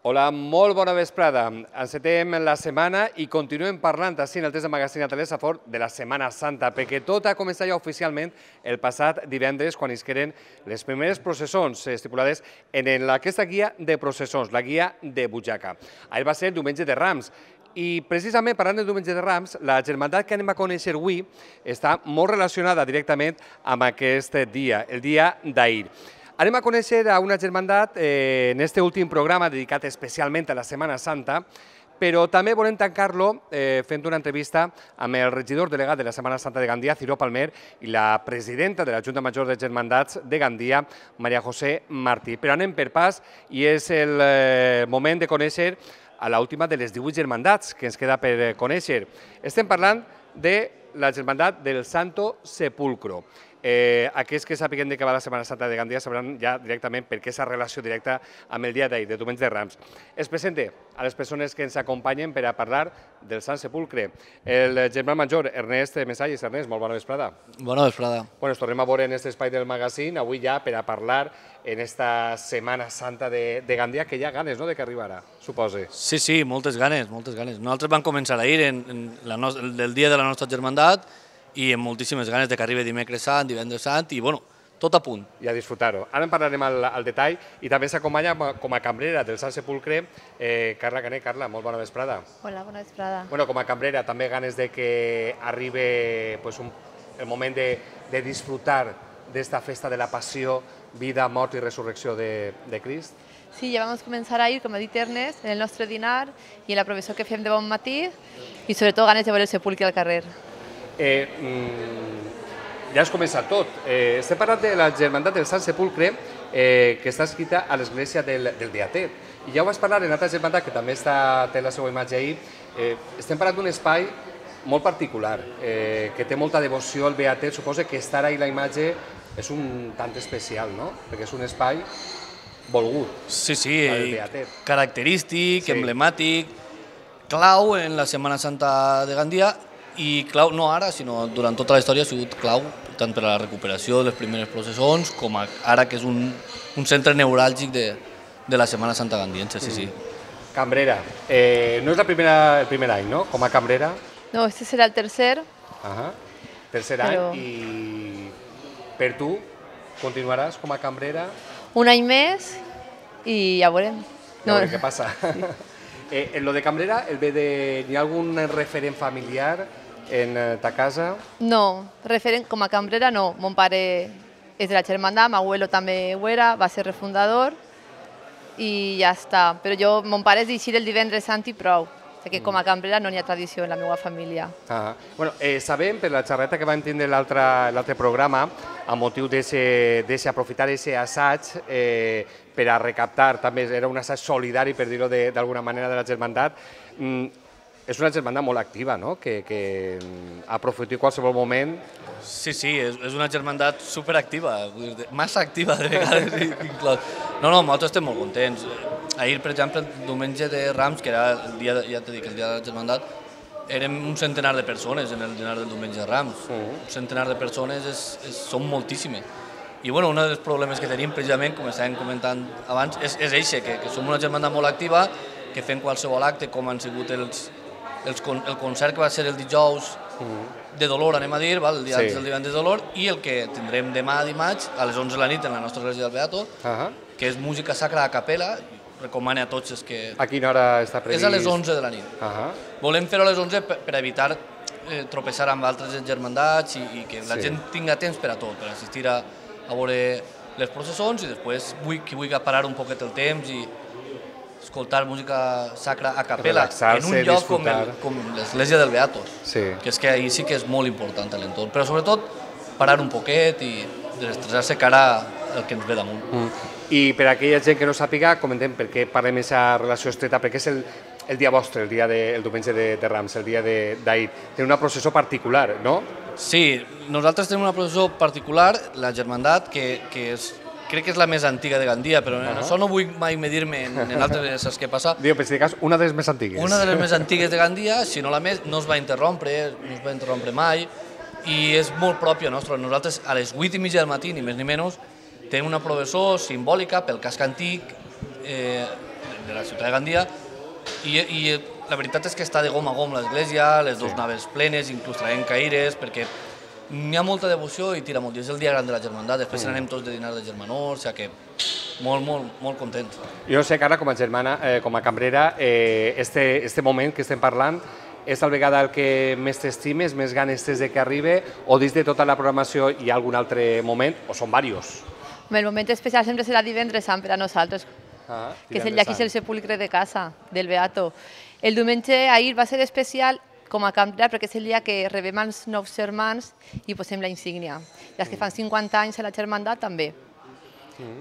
Hola, molt bona vesprada. Encetem la setmana i continuem parlant així en el test de magazín a Telesafort de la Setmana Santa, perquè tot ha començat ja oficialment el passat divendres quan isqueren les primeres processons estipulades en aquesta guia de processons, la guia de Butxaca. Ahir va ser el diumenge de Rams. I precisament parlant del diumenge de Rams, la germandat que anem a conèixer avui està molt relacionada directament amb aquest dia, el dia d'ahir. Anem a conèixer a una germandat en aquest últim programa dedicat especialment a la Setmana Santa, però també volem tancar-lo fent una entrevista amb el regidor delegat de la Setmana Santa de Gandia, Ciro Palmer, i la presidenta de la Junta Major de Germandats de Gandia, Maria José Martí. Però anem per pas i és el moment de conèixer a l'última de les 18 germandats que ens queda per conèixer. Estem parlant de la germandat del Santo Sepulcro. Aquells que sàpiguen de què va la Setmana Santa de Gandia sabran ja directament per què aquesta relació directa amb el dia d'ahir, de diumenge de Rams. Es presente a les persones que ens acompanyen per a parlar del Sant Sepulcre. El germà major, Ernest Mesalles. Ernest, molt bona vesprada. Bona vesprada. Bueno, ens tornem a veure en aquest espai del magazín, avui ja per a parlar en esta Setmana Santa de Gandia, que hi ha ganes, no?, de que arribarà, supose. Sí, moltes ganes, moltes ganes. Nosaltres vam començar ahir el dia de la nostra germandat i amb moltíssimes ganes de que arribi dimecres sant, divendres sant i, bueno, tot a punt. I a disfrutar-ho. Ara en parlarem al detall i també s'acompanya com a cambrera del Sant Sepulcre Carla Canet. Carla, molt bona vesprada. Hola, bona vesprada. Bueno, com a cambrera també ganes de que arribi el moment de disfrutar d'esta festa de la passió, vida, mort i resurrecció de Crist. Sí, ja vam començar ahir, com ha dit Ernest, en el nostre dinar i en la professió que fem de bon matí i sobretot ganes de veure el sepulcre al carrer. Ja has començat tot. Estem parlant de la germandat del Sant Sepulcre que està escrita a l'església del Beatet. I ja ho vas parlar en altra germandat que també té la seva imatge ahir. Estem parlant d'un espai molt particular, que té molta devoció al Beatet. Suposo que estar ahí la imatge és un tant especial, no? Perquè és un espai volgut. Sí, característic, emblemàtic, clau en la Setmana Santa de Gandia i clau no ara, sinó durant tota la història ha sigut clau tant per a la recuperació de les primeres processons com ara que és un centre neuràlgic de la Setmana Santa gandiense, sí. Cambrera. No és el primer any, no?, com a cambrera? No, este serà el tercer. Tercer any i per tu continuaràs com a cambrera? Un any més i ja veurem. Ja veurem què passa. En lo de cambrera, hi ha algun referent familiar en ta casa? No, referent com a cambrera no. Mon pare és de la germandat, m'abuelo també ho era, va ser refundador i ja està. Però mon pare és d'eixir el divendres sant i prou. Que com a cambrera no hi ha tradició en la meva família. Sabem, per la xerreta que vam tindre l'altre programa, a motiu d'aprofitar aquest assaig per a recaptar, també era un assaig solidari, per dir-ho d'alguna manera, de la germandat. És una germandat molt activa, no?, que aprofita en qualsevol moment. Sí, és una germandat superactiva, massa activa de vegades inclòs. No, nosaltres estem molt contents. Ahir, per exemple, el diumenge de Rams, que era el dia, ja t'he dit, el dia de la germandat, érem un centenar de persones en el dinar del diumenge de Rams. Un centenar de persones són moltíssimes. I un dels problemes que tenim, precisament, com estàvem comentant abans, és això, que som una germandat molt activa, que fem qualsevol acte, com han sigut el concert que va ser el dijous de Dolor, anem a dir, el dia del divendres de Dolor, i el que tindrem demà dimarts a les 11 de la nit en la nostra església del Beato, que és música sacra a capella. Recomano a tots els que... A quina hora està previst? És a les 11 de la nit. Volem fer-ho a les 11 per evitar tropeçar amb altres germandats i que la gent tinga temps per a tot, per assistir a veure les processons i després qui vulgui parar un poquet el temps i escoltar música sacra a capella en un lloc com l'església del Beato, que és que ahir sí que és molt important l'entorn, però sobretot parar un poquet i desestressar-se cara al que ens ve damunt. I per a aquella gent que no sàpiga, comentem per què parlem d'aquesta relació estreta, perquè és el dia vostre, el diumenge de Rams, el dia d'ahir. Té una processó particular, no? Sí, nosaltres tenim una processó particular, la germandat, que crec que és la més antiga de Gandia, però en això no vull mai medir-me en altres coses que passa. Diu, per si de cas, una de les més antigues. Una de les més antigues de Gandia, si no la més, no es va interrompre mai, i és molt pròpia nostra. Nosaltres a les 8:30 del matí, ni més ni menys, tenim una processó simbòlica pel casc antic la ciutat de Gandia, i la veritat és que està de gom a gom l'església, les dues naves plenes, inclús traient caires, perquè n'hi ha molta devoció i tira molt. I és el dia gran de la germandat, després anem tots de dinar de germanor, o sigui que molt contents. Jo sé que ara, com a germana, com a cambrera, este moment que estem parlant és tal vegada el que més t'estimes, més ganes tens de que arribi, o dins de tota la programació hi ha algun altre moment, o són diversos? El moment especial sempre serà divendres sant per a nosaltres, que és el dia que és el sepulcre de casa del Beato. El diumenge ahir va ser especial com a cambrera perquè és el dia que rebem els nous germans i posem la insígnia. I els que fan 50 anys a la germandat també.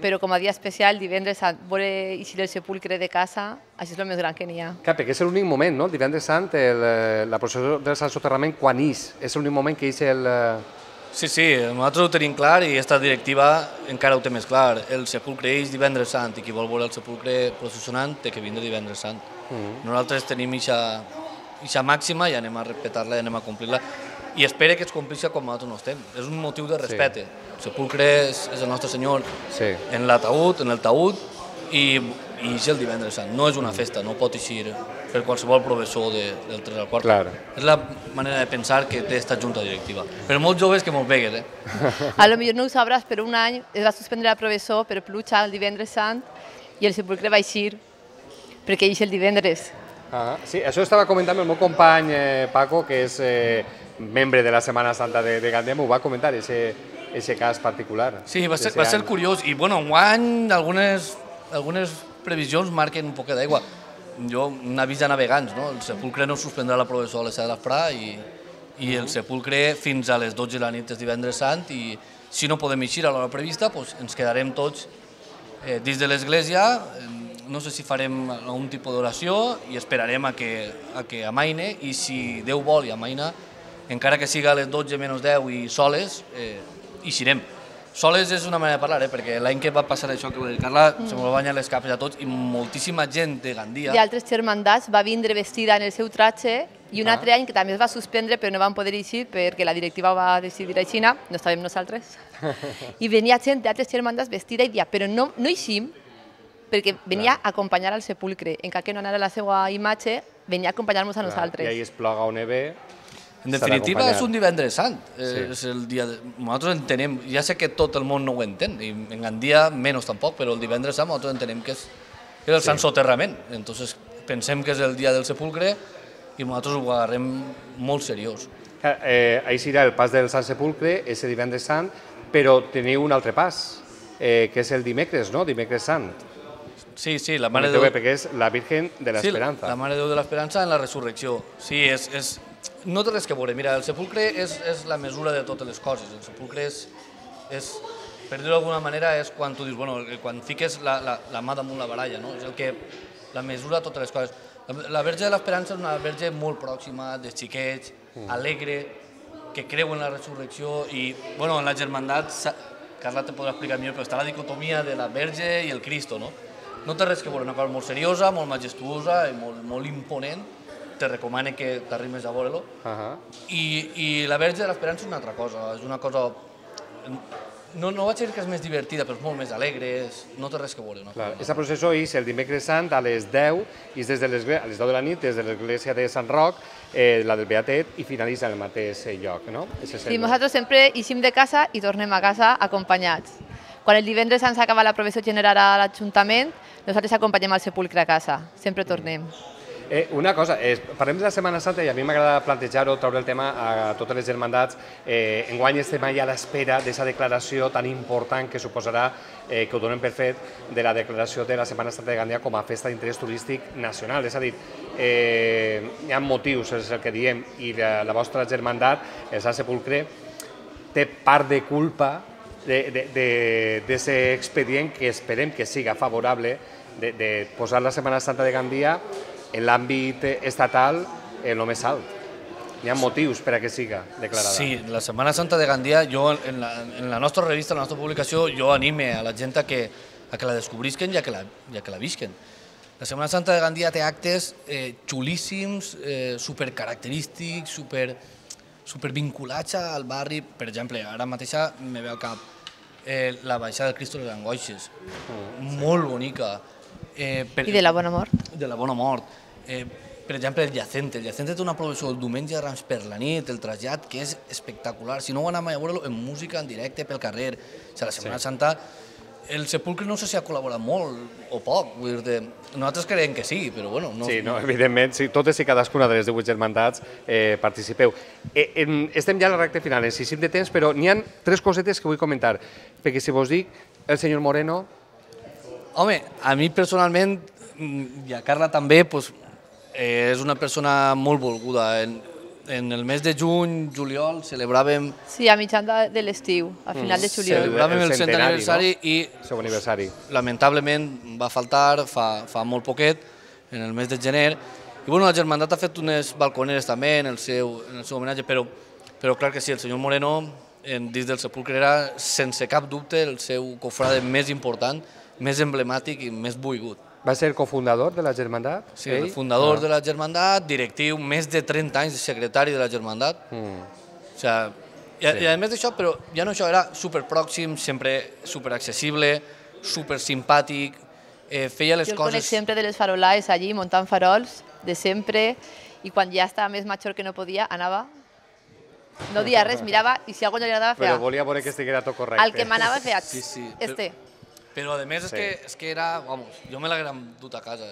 Però com a dia especial, divendres sant, veure eixir el sepulcre de casa, això és el més gran que n'hi ha. Clar, perquè és l'únic moment, no? El divendres sant, la processó del Sant Soterrament, quan és l'únic moment que és el... Sí, nosaltres ho tenim clar i aquesta directiva encara ho té més clar. El sepulcre és divendres sant i qui vol veure el sepulcre processionant té que vindre divendres sant. Nosaltres tenim aquesta màxima i anem a respectar-la i anem a complir-la. I espero que es complixi com nosaltres no estem. És un motiu de respecte. El sepulcre és el nostre Senyor en l'ataúd, en el taüt, i és el divendres sant. No és una festa, no pot eixir per qualsevol professor del 3 al 4. És la manera de pensar que té esta junta directiva. Però molts joves que molt vegues. A lo millor no ho sabràs, però un any es va suspendre el professor per pluja el divendres sant i el sepulcre va eixir perquè eix el divendres. Sí, això estava comentant el meu company Paco, que és membre de la Setmana Santa de Gandia, m'ho va comentar, aquest cas particular. Sí, va ser curiós. I, bueno, enguany algunes previsions marquen un poquet d'aigua. Jo, un avís de navegants, no? El sepulcre no suspendrà la professó a les 7 de l'esprà i el sepulcre fins a les 12 de la nit és divendres sant i si no podem eixir a l'hora prevista, ens quedarem tots dins de l'església. No sé si farem algun tipus d'oració i esperarem a que amaine i si Déu vol i amaina, encara que siga a les 12 menys 10 i soles, eixirem. Soles és una manera de parlar, perquè l'any que va passar això que va dir Carla, se m'ho va banyar les capes a tots i moltíssima gent de Gandia. I altres germandats va vindre vestida en el seu tratge i un altre any que també es va suspendre però no van poder eixir perquè la directiva va decidir així, no estàvem nosaltres. I venia gent d'altres germandats vestida i dia, però no eixim perquè venia a acompanyar al sepulcre, encara que no anara la seva imatge, venia a acompanyar-nos a nosaltres. I ahí es ploga o neve... En definitiva, és un divendres sant. És el dia nosaltres entenem, ja sé que tot el món no ho entén, i en Gandia menys tampoc, però el divendres sant nosaltres entenem que és el Sant Soterrament. Entonces pensem que és el dia del sepulcre i nosaltres ho agarrem molt seriós. Ahí serà el pas del Sant Sepulcre, ese divendres sant, però teniu un altre pas, que és el dimecres, no? Dimecres sant. Sí, la Mare de Déu... Perquè és la Virgen de l'Esperança. Sí, la Mare de Déu de l'Esperança en la resurrecció. Sí, no té res que veure. Mira, el sepulcre és la mesura de totes les coses. El sepulcre és per dir-ho d'alguna manera, és quan tu dius, bueno, quan fiques la mà damunt la baralla, no? És el que la mesura de totes les coses. La Verge de l'Esperança és una verge molt pròxima, dels xiquets, alegre, que creu en la resurrecció i, bueno, en la germandat, Carla te podrà explicar millor, però està la dicotomia de la Verge i el Cristo, no? No té res que veure, una cosa molt seriosa, molt majestuosa i molt imponent. Te recomano que t'arrimes a veure-lo. I la Verge de l'Esperança és una altra cosa, és una cosa... No vaig dir que és més divertida, però és molt més alegre, no té res que veure. Aquesta processó és el dimecres sant a les 10, i a les 10 de la nit, des de l'església de Sant Roc, la del Beatet, i finalitza en el mateix lloc, no? Sí, nosaltres sempre eixim de casa i tornem a casa acompanyats. Quan el divendres ens acaba la professó general a l'Ajuntament, nosaltres acompanyem al sepulcre a casa, sempre tornem. Una cosa, parlem de la Setmana Santa i a mi m'agrada plantejar-ho, treure el tema a totes les germandats. Enguany estem allà a l'espera d'aquesta declaració tan important que suposarà, que ho donem per fet, de la declaració de la Setmana Santa de Gandia com a festa d'interès turístic nacional. És a dir, hi ha motius, és el que diem, i la vostra germandat, el Sant Sepulcre, té part de culpa d'aquest expedient que esperem que siga favorable de posar la Setmana Santa de Gandia en l'àmbit estatal en el més alt. Hi ha motius per a que siga declarada. Sí, la Setmana Santa de Gandia, jo en la nostra revista, en la nostra publicació, jo anime a la gent a que la descobrisquen i a que la visquen. La Setmana Santa de Gandia té actes xulíssims, supercaracterístics, supervinculats al barri. Per exemple, ara mateixa me ve al cap la baixada del Cristo de les Angoixes, molt bonica. I de la Bona Mort. De la Bona Mort. Per exemple, el Llacente. El Llacente té una aprovació el diumenge de Rams per la nit, el trasllat, que és espectacular. Si no ho anàvem a veure en música, en directe, pel carrer. O sigui, la Setmana Santa, el Sepulcre no sé si ha col·laborat molt o poc. Vull dir, nosaltres creiem que sí, però bueno... Sí, evidentment, totes i cadascuna de les 18 germandats participeu. Estem ja a la recta final, en 6 de temps, però n'hi ha 3 cosetes que vull comentar. Perquè si vos dic, el senyor Moreno... Home, a mi personalment, i a Carla també, és una persona molt volguda. En el mes de juny, juliol, celebràvem... Sí, a mitjan de l'estiu, a final de juliol. Celebràvem el 100è aniversari i, lamentablement, va faltar fa molt poquet, en el mes de gener. I bueno, la germandat ha fet unes balconeres també en el seu homenatge, però clar que sí, el senyor Moreno, dins del Sepulcre, era sense cap dubte el seu cofrade més important, més emblemàtic i més volgut. Va ser cofundador de la germandat? Sí, el fundador de la germandat, directiu, més de 30 anys de secretari de la germandat. I a més d'això, però ja no això, era superpròxim, sempre superaccessible, supersimpàtic, feia les coses... Jo el conec sempre de les farolades allí, muntant farols, de sempre, i quan ja estava més major que no podia, anava, no dia res, mirava, i si algú no li agradava, feia... Però volia veure que estiguera tot correcte. El que m'anava feia, Però a més és que era, vamos, jo me l'haguera dut a casa.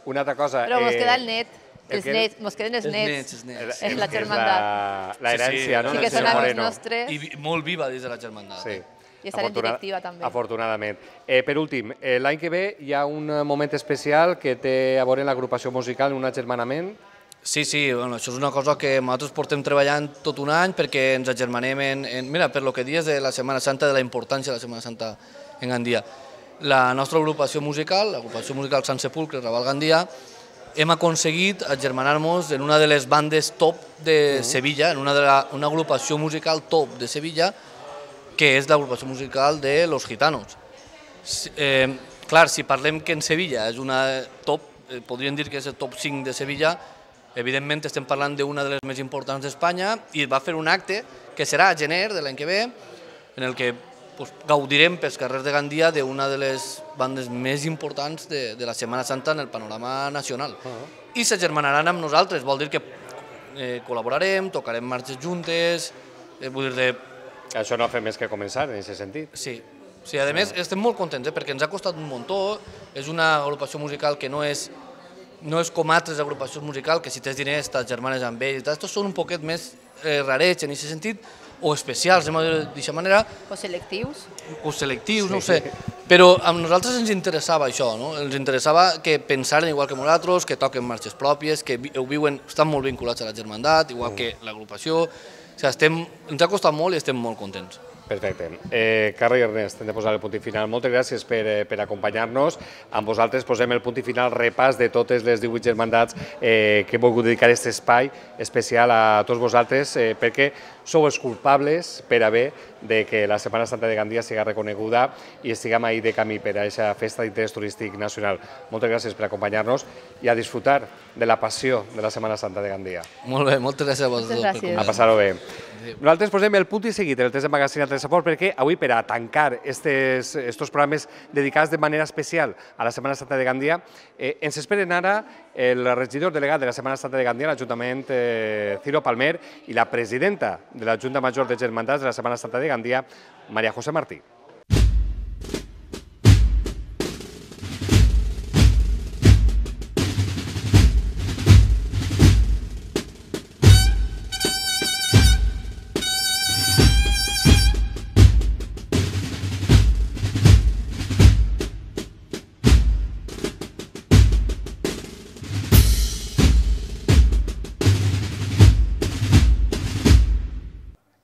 Una altra cosa... Però mos queda el net, els nets, mos queden els nets. És la germandat. La herència, no? Sí, que són amics nostres. I molt viva dins de la germandat. Sí. I estar en directiva també. Afortunadament. Per últim, l'any que ve hi ha un moment especial que té a veure l'agrupació musical, un agermanament. Sí, això és una cosa que nosaltres portem treballant tot un any perquè ens agermanem mira, per lo que dius de la Setmana Santa, de la importància de la Setmana Santa en Gandia. La nostra agrupació musical, l'agrupació musical Sant Sepulcre, Raval Gandia, hem aconseguit agermanar-nos en una de les bandes top de Sevilla, en una agrupació musical top de Sevilla, que és l'agrupació musical de Los Gitanos. Clar, si parlem que en Sevilla és una top, podríem dir que és el top 5 de Sevilla, evidentment estem parlant d'una de les més importants d'Espanya, i va fer un acte que serà a gener de l'any que ve, en el que gaudirem pels carrers de Gandia d'una de les bandes més importants de la Setmana Santa en el panorama nacional. I s'agermanaran amb nosaltres, vol dir que col·laborarem, tocarem marxes juntes, vull dir... Això no ha fet més que començar, en aquest sentit. Sí, a més estem molt contents perquè ens ha costat un muntó, és una agrupació musical que no és com altres agrupacions musicals, que si tens diners t'agermanes amb ells, estos són un poquet més rarets en aquest sentit, o especials, d'aquesta manera. O selectius. O selectius, no ho sé. Però a nosaltres ens interessava això, no? Ens interessava que pensaren igual que nosaltres, que toquen marxes pròpies, que ho viuen, estan molt vinculats a la germandat, igual que l'agrupació. O sigui, ens ha costat molt i estem molt contents. Perfecte. Carla i Ernest, hem de posar el punt final. Moltes gràcies per acompanyar-nos. Amb vosaltres posem el punt final, repàs de totes les 18 germandats que he volgut dedicar aquest espai especial a tots vosaltres, perquè sou els culpables per haver de que la Setmana Santa de Gandia siga reconeguda i estiguem ahí de camí per a aquesta festa d'interès turístic nacional. Moltes gràcies per acompanyar-nos i a disfrutar de la passió de la Setmana Santa de Gandia. Molt bé, moltes gràcies a vosaltres. A passar-ho bé. Nosaltres posem el punt i seguit en el test de Magazine Telesaport perquè avui, per a tancar estos programes dedicats de manera especial a la Setmana Santa de Gandia, ens esperen ara el regidor delegat de la Setmana Santa de Gandia, l'Ajuntament Ciro Palmer, i la presidenta de la Junta Major de Germandats de la Setmana Santa de Gandia, María José Martí.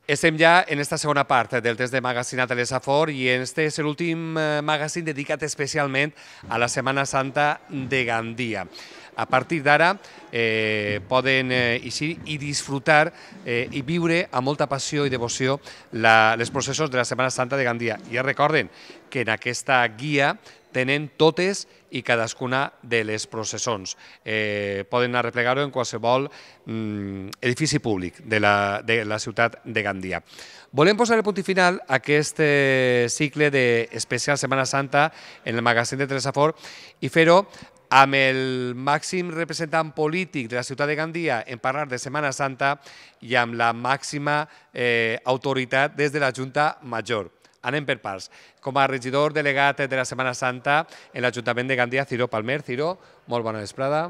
Estem ja en esta segona part del test de Magazine a Telesaport i este és l'últim magazine dedicat especialment a la Setmana Santa de Gandia. A partir d'ara poden eixir i disfrutar i viure amb molta passió i devoció els processos de la Setmana Santa de Gandia. I recorden que en aquesta guia tenen totes i cadascuna de les processons. Poden arreplegar-ho en qualsevol edifici públic de la ciutat de Gandia. Volem posar el punt i final a aquest cicle d'especial Setmana Santa en el magazín de Telesafort i fer-ho amb el màxim representant polític de la ciutat de Gandia en parlar de Setmana Santa i amb la màxima autoritat des de la Junta Major. Anem per parts. Com a regidor delegat de la Setmana Santa en l'Ajuntament de Gandia, Ciro Palmer. Ciro, molt bona vesprada.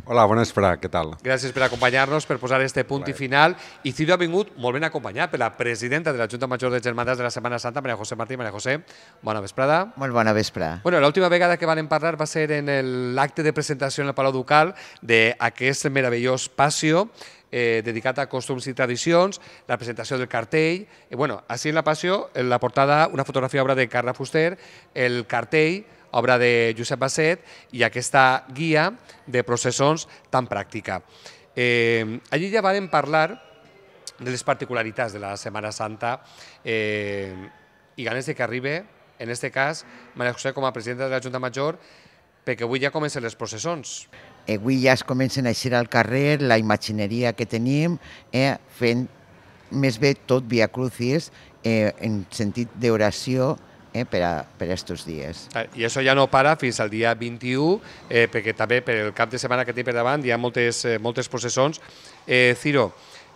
Hola, bona vesprada, què tal? Gràcies per acompanyar-nos, per posar este punt i final. I Ciro ha vingut molt ben acompanyat per la presidenta de la Junta Major de Germandats de la Setmana Santa, Maria José Martí. Maria José, bona vesprada. Molt bona vesprada. Bueno, l'última vegada que vam parlar va ser en l'acte de presentació en el Palau Ducal d'aquest meravellós passió dedicat a costums i tradicions, la presentació del cartell. Bueno, així en la passió, en la portada, una fotografia obra de Carla Fuster, el cartell, obra de Josep Basset, i aquesta guia de processons tan pràctica. Allí ja vam parlar de les particularitats de la Setmana Santa i ganes de que arribi, en aquest cas, Maria José com a presidenta de la Junta Major, perquè avui ja comencen les processons. Avui ja es comencen a eixir al carrer, la imagineria que tenim, fent més bé tot Via Crucis en sentit d'oració per a aquests dies. I això ja no para fins al dia 21, perquè també per el cap de setmana que té per davant hi ha moltes processons. Ciro,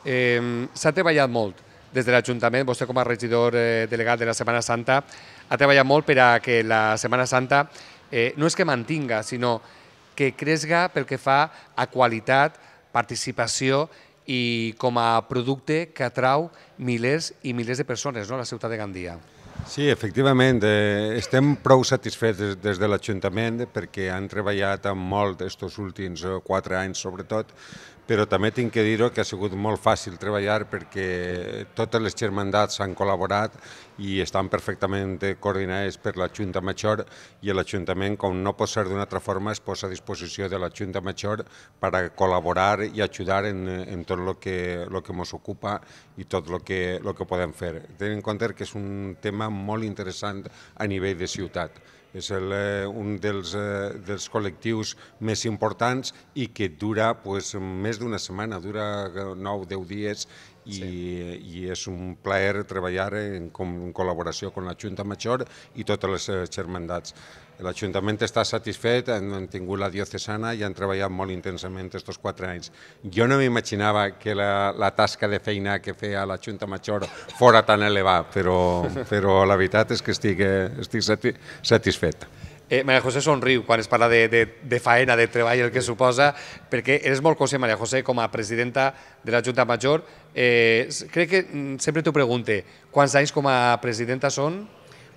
s'ha treballat molt des de l'Ajuntament, vostè com a regidor delegat de la Setmana Santa, ha treballat molt per a que la Setmana Santa no és que mantinga, sinó que cresga pel que fa a qualitat, participació i com a producte que atrau milers i milers de persones a la ciutat de Gandia. Sí, efectivament, estem prou satisfets des de l'Ajuntament perquè han treballat molt aquests últims 4 anys sobretot, però també tinc que dir-ho que ha sigut molt fàcil treballar perquè totes les germandats han col·laborat i estan perfectament coordinades per la Junta Major i l'Ajuntament, com no pot ser d'una altra forma, es posa a disposició de la Junta Major per a col·laborar i ajudar en tot el que ens ocupa i tot el que podem fer. Tenint en compte que és un tema molt interessant a nivell de ciutat. És un dels col·lectius més importants i que dura més d'una setmana, dura 9-10 dies i és un plaer treballar en col·laboració amb la Junta Major i totes les germandats. L'Ajuntament està satisfet, han tingut la diocesana i han treballat molt intensament aquests 4 anys. Jo no m'imaginava que la tasca de feina que feia la Junta Major fora tan elevada, però la veritat és que estic satisfet. Maria José somriu quan es parla de faena, de treball, el que suposa, perquè eres molt conscient, Maria José, com a presidenta de la Junta Major. Crec que sempre t'ho pregunte, quants anys com a presidenta són?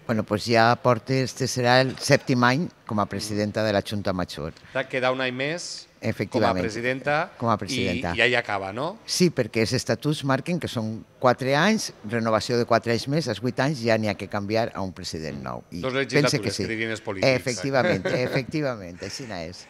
Bueno, pues ja este serà el 7è any com a presidenta de la Junta Major. Queda un any més com a presidenta i ja hi acaba, no? Sí, perquè els estatuts marquen que són 4 anys, renovació de 4 anys més, als 8 anys ja n'hi ha que canviar a un president nou. 2 legislatures, que dirien els polítics. Efectivament, així és.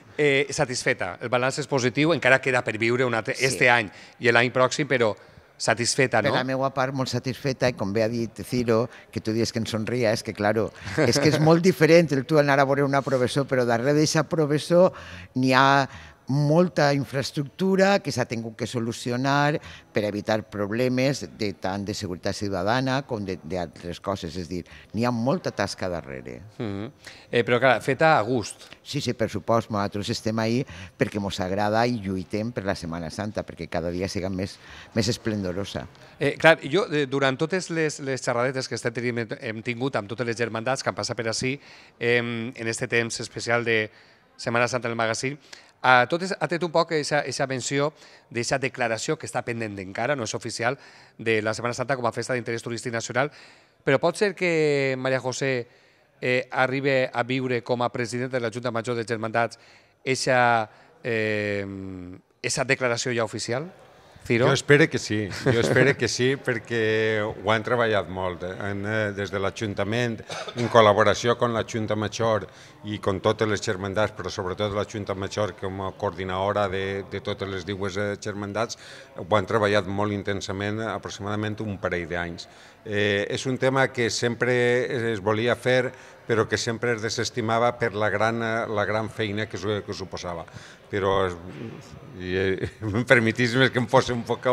Satisfeta, el balanç és positiu, encara queda per viure este any i l'any pròxim, però satisfeta, no? Per la meva part, molt satisfeta, i com bé ha dit Ciro, que tu dius que em somria, és que, claro, és que és molt diferent el tu anar a veure una professor, però darrere d'aquesta professor n'hi ha molta infraestructura que s'ha tingut que solucionar per evitar problemes tant de seguretat ciutadana com d'altres coses. És a dir, n'hi ha molta tasca darrere. Però, clar, feta a gust. Sí, per supost. Nosaltres estem ahí perquè ens agrada i lluitem per la Setmana Santa, perquè cada dia siga més esplendorosa. Clar, jo, durant totes les xerradetes que hem tingut amb totes les germandats que han passat per ací, en aquest temps especial de Setmana Santa en el magazín, ha tret un poc aquesta menció d'aquesta declaració que està pendent encara, no és oficial, de la Setmana Santa com a festa d'interès turístic nacional, però pot ser que Maria José arribi a viure com a presidenta de la Junta Major de Germandats aquesta declaració ja oficial? Ciro? Jo espero que sí, perquè ho han treballat molt. Des de l'Ajuntament, en col·laboració amb la Junta Major i amb totes les germandats, però sobretot la Junta Major com a coordinadora de totes les dues germandats, ho han treballat molt intensament, aproximadament un parell d'anys. És un tema que sempre es volia fer però que sempre es desestimava per la gran feina que suposava. Però, i em permetisme que em posi un poc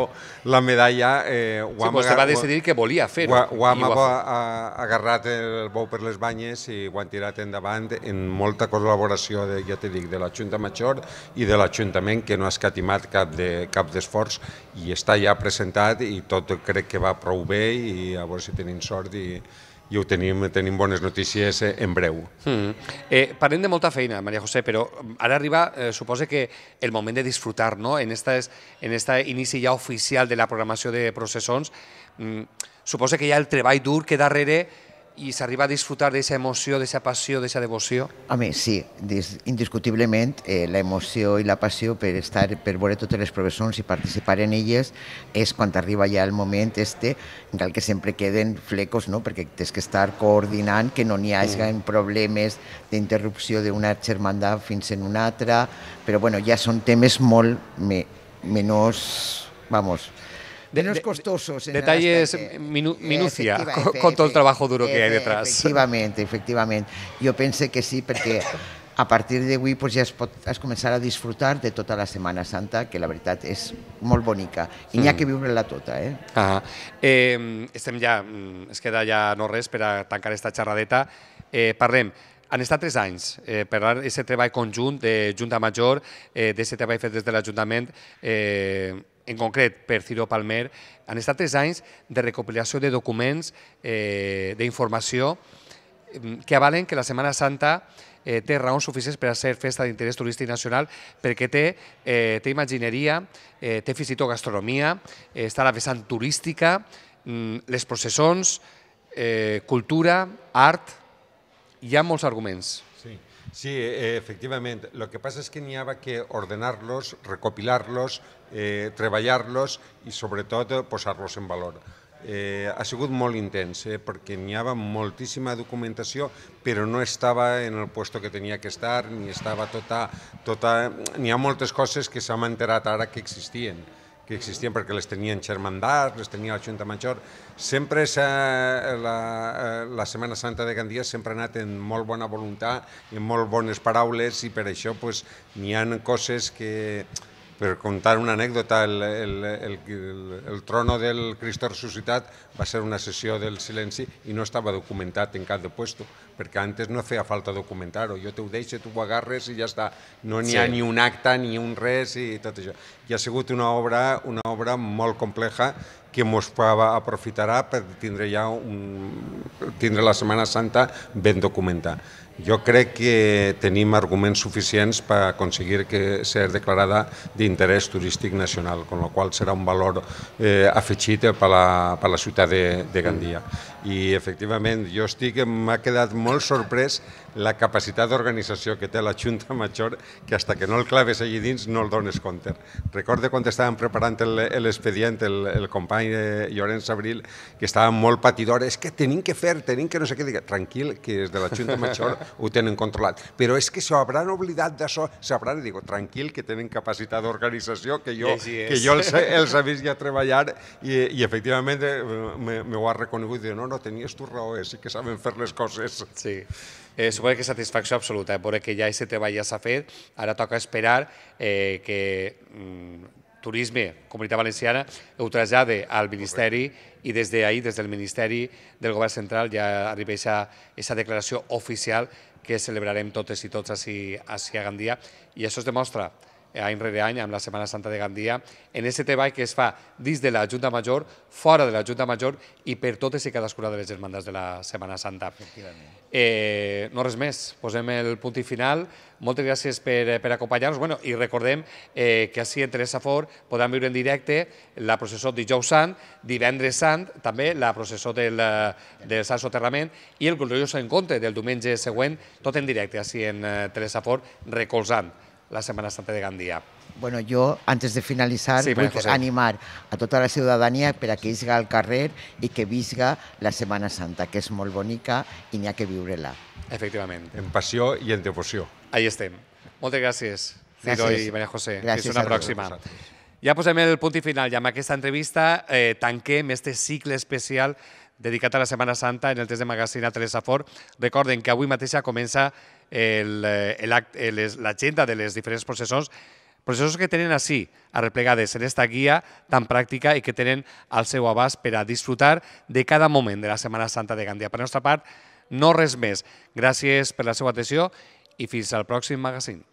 la medalla... Sí, vostè va decidir que volia fer-ho. Ho hem agarrat el bou per les banyes i ho han tirat endavant en molta col·laboració, ja t'he dit, de la Junta Major i de l'Ajuntament, que no ha escatimat cap d'esforç, i està ja presentat i tot crec que va prou bé, i a veure si tenim sort i ho tenim bones notícies en breu. Parlem de molta feina, Maria José, però ara arriba, suposa que el moment de disfrutar, no? En este inici ja oficial de la programació de processons, suposa que hi ha el treball dur que darrere i s'arriba a disfrutar d'aquesta emoció, d'aquesta passió, d'aquesta devoció? Home, sí, indiscutiblement l'emoció i la passió per veure totes les professons i participar en elles és quan arriba ja el moment en el que sempre queden flecos, no? Perquè tens que estar coordinant que no n'hi hagi problemes d'interrupció d'una germandat fins en una altra, però bueno, ja són temes molt menys, vamos, menos costosos. Detalles, minucia, con todo el trabajo duro que hay detrás. Efectivament. Jo penso que sí, perquè a partir d'avui ja es començar a disfrutar de tota la Setmana Santa, que la veritat és molt bonica, i n'hi ha que viure-la tota. Estem ja, es queda ja no res per a tancar aquesta xerradeta. Parlem, han estat 3 anys per aquest treball conjunt de Junta Major, d'aquest treball fet des de l'Ajuntament, en concret per Ciro Palmer. Han estat 3 anys de recopilació de documents, d'informació, que avalen que la Setmana Santa té raons suficients per a ser festa d'interès turístic nacional, perquè té imagineria, té fins i tot gastronomia, està la vessant turística, les processons, cultura, art, hi ha molts arguments. Sí, efectivament. El que passa és que n'hi ha que ordenar-los, recopilar-los, treballar-los i sobretot posar-los en valor. Ha sigut molt intens, perquè n'hi havia moltíssima documentació, però no estava en el lloc que tenia que estar, ni estava tota... N'hi ha moltes coses que s'han enterat ara que existien perquè les tenien xermandats, les tenia la Junta Major. Sempre la Setmana Santa de Gandia sempre ha anat en molt bona voluntat, en molt bones paraules, i per això n'hi ha coses que... Per contar una anècdota, el trono del Cristo Resucitat va ser una sessió del silenci i no estava documentat en cap de puesto, perquè antes no feia falta documentar-ho. Jo t'ho deixo, tu ho agarres i ja està. No n'hi ha ni un acte, ni un res i tot això. I ha sigut una obra molt compleja que ens aprofitarà per tindre la Setmana Santa ben documentada. Jo crec que tenim arguments suficients per aconseguir que ser declarada d'interès turístic nacional, amb la qual serà un valor afegit per la ciutat de Gandia. I, efectivament, m'ha quedat molt sorprès la capacitat d'organització que té la Junta Major, que fins que no el claves allà dins no el dones compte. Recordo quan estàvem preparant l'expedient, el company Llorenç Abril, que estava molt patidor, és que tenim que fer, tenim que no sé què. Dic, tranquil, que des de la Junta Major ho tenen controlat. Però és que s'hauran oblidat d'això, dic, tranquil, que tenen capacitat d'organització, que jo els he vist ja treballar i efectivament m'ho ha reconegut. Dic, no, tenies tu raó, sí que saben fer les coses. Sí. Suposo que satisfacció absoluta, veure que ja aquest treball ja s'ha fet, ara toca esperar que Turisme, Comunitat Valenciana, ho trasllade al Ministeri i des d'ahir, des del Ministeri del Govern Central, ja arriba aquesta declaració oficial que celebrarem totes i tots ací a Gandia, i això es demostra any rere any amb la Setmana Santa de Gandia, en aquest treball que es fa dins de la Junta Major, fora de la Junta Major i per totes i cadascuna de les germandats de la Setmana Santa. No res més, posem el punt i final. Moltes gràcies per acompanyar-nos i recordem que ací en Teresa Fort podran viure en directe la processó dijous sant, divendres sant, també la processó del Sant Soterrament i el gloriós encontre del diumenge següent, tot en directe ací en Teresa Fort, recolzant la Setmana Santa de Gandia. Bueno, yo, antes de finalizar, vull animar a tota la ciutadania per a que isga al carrer i que visga la Setmana Santa, que és molt bonica i n'hi ha que viure-la. Efectivament. En passió i en devoció. Ahí estem. Moltes gràcies, Ciro i Maria José. Gràcies. Fins una pròxima. Ja posem el punt i final i amb aquesta entrevista tanquem este cicle especial dedicat a la Setmana Santa en el test de magazín a Telesafor. Recorden que avui mateixa comença l'agenda de les diferents processons que tenen així, arreplegades en esta guia tan pràctica i que tenen al seu abast per a disfrutar de cada moment de la Setmana Santa de Gandia. Per la nostra part, no res més. Gràcies per la seva atenció i fins al pròxim magazín.